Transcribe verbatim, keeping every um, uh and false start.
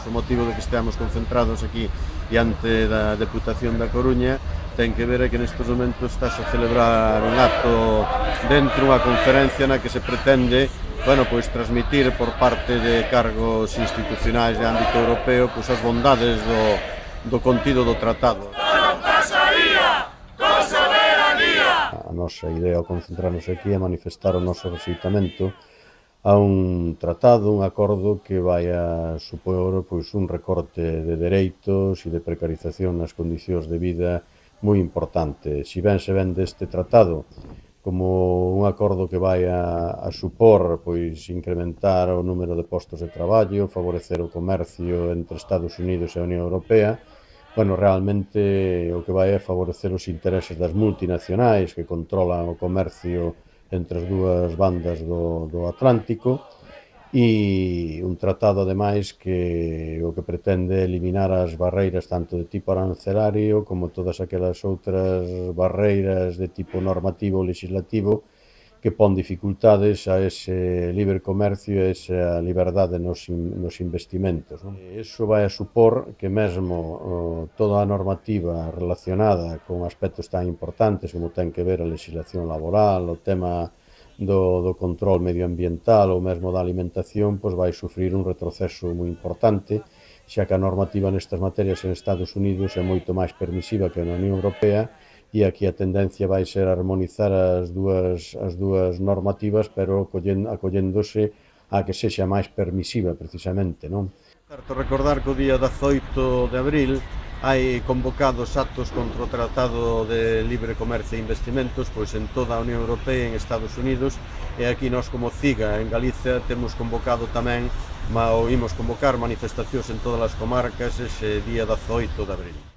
o motivo de que estemos concentrados aquí diante da Deputación da Coruña ten que ver é que nestes momentos estás a celebrar un acto dentro unha conferencia na que se pretende, bueno, pois transmitir por parte de cargos institucionais de ámbito europeo pois as bondades do, do contido do tratado. Non pasaría con soberanía! A nosa idea ao concentrarnos aquí é manifestar o noso rexeitamento a un tratado, un acordo que vai a supor pois, un recorte de dereitos e de precarización nas condicións de vida moi importante. Si ben se vende este tratado como un acordo que vai a, a supor pois, incrementar o número de postos de traballo, favorecer o comercio entre Estados Unidos e a Unión Europea, bueno, realmente o que vai é favorecer os intereses das multinacionais que controlan o comercio entre as dúas bandas do, do Atlántico e un tratado, ademais, que o que pretende é eliminar as barreiras tanto de tipo arancelario como todas aquelas outras barreiras de tipo normativo ou legislativo que pon dificultades a ese libre comercio e a esa liberdade nos, nos investimentos. Non? Iso vai a supor que mesmo oh, toda a normativa relacionada con aspectos tan importantes como ten que ver a legislación laboral, o tema do, do control medioambiental ou mesmo da alimentación, pois vai sufrir un retroceso moi importante, xa que a normativa nestas materias en Estados Unidos é moito máis permisiva que na Unión Europea e aquí a tendencia vai ser armonizar as dúas, as dúas normativas, pero acollendose a que sexa máis permisiva, precisamente, non? Certo, recordar que o día dezoito de abril hai convocados actos contra o Tratado de Libre Comercio e Investimentos pois en toda a Unión Europea e en Estados Unidos, e aquí nós como CIGA en Galicia temos convocado tamén, ou imos convocar manifestacións en todas as comarcas ese día dezoito de abril.